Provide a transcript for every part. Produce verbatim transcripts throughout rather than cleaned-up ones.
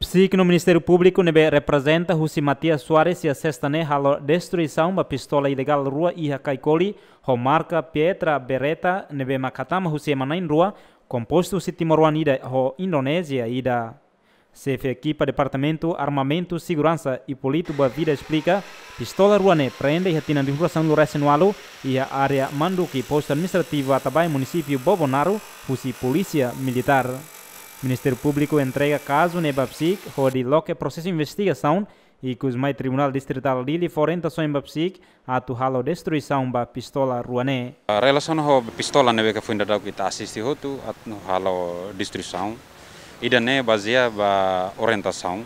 Signu Ministériu Públiku ne'ebé reprezenta husi Matias Soares iha sesta ne'e halo destruisaun ba pistola ilegál rua iha Caicoli, ho marka Pietra Beretta ne'ebé mak hatama husi ema na'in rua, kompostu husi timoroan ida ho Indonézia ida. Xefe ekipa Departamentu Armamentu, Seguransa, Hipólito Boavida esplika, pistola rua ne'e prende iha tinan rihun rua sanulu resin ualu iha área Manduki, postu administrativu Atabae, munisípiu Bobonaro, husi polísia militár. Ministériu Públiku entrega kazu ne'e ba PCIC hodi loke prosesu investigasaun, ikus mai Tribunál Distritál Dili fó orientasaun ba PCIC atu halo destruisaun ba pistola rua ne'e. Ah, relasiona ho pistola ne'ebé ke foin daudauk ita asiste hotu atu halo destruisaun. Ida-ne'e bazeia ba orientasaun,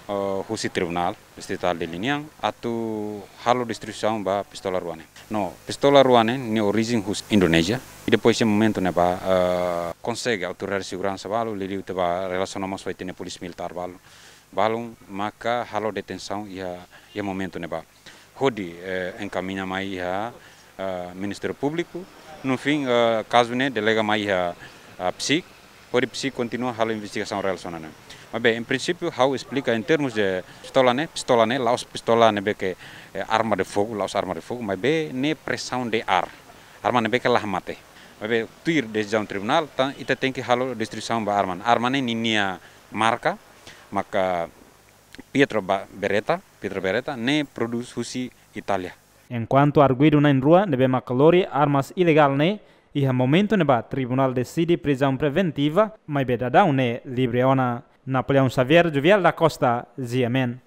eh, husi Tribunál Distritál Dili nian atu halo destruisaun ba pistola rua ne'e. No, pistola rua ne'e, nia orijen husi Indonézia. I depois iha momentu ne'ebá, eh, konsege autoridade seguransa balu, liuliu ita bá relasiona mós ho ita-nia polísia militár balu. Balun maka halo detensaun iha, iha momentu ne'ebá. Hodi, eh, enkamiña mai iha, eh, Ministériu Públiku. No fim, eh, kazu ne'e delega mai iha, eh, PCIC. Hodi PCIC kontinua halo investigasaun relasiona ne'e. Maibé, em princípio, ha'u esplika em termos de pistola ne'e, pistola ne'e, la'ós pistola ne'ebé ke, eh, arma de fogo, la'ós arma de fogo, maibé ne'e presaun de ar. Arma ne'ebé ke la hamate. Maibé, tuir desizaun tribunál, tan, ita tenke halo destruisaun ba arma. Arma ne'e ninia marka, maka Pietro Ba-, Beretta, Pietro Beretta, ne'e prodús husi Itália. Enkuantu arguidu na'in rua ne'ebé mak lori armas ilegál ne'e, iha momentu ne'ebá tribunál deside prizaun preventiva, maibé daudaun ne'e livre ona. Napoleão Xavier, Jovial da Costa, G M N.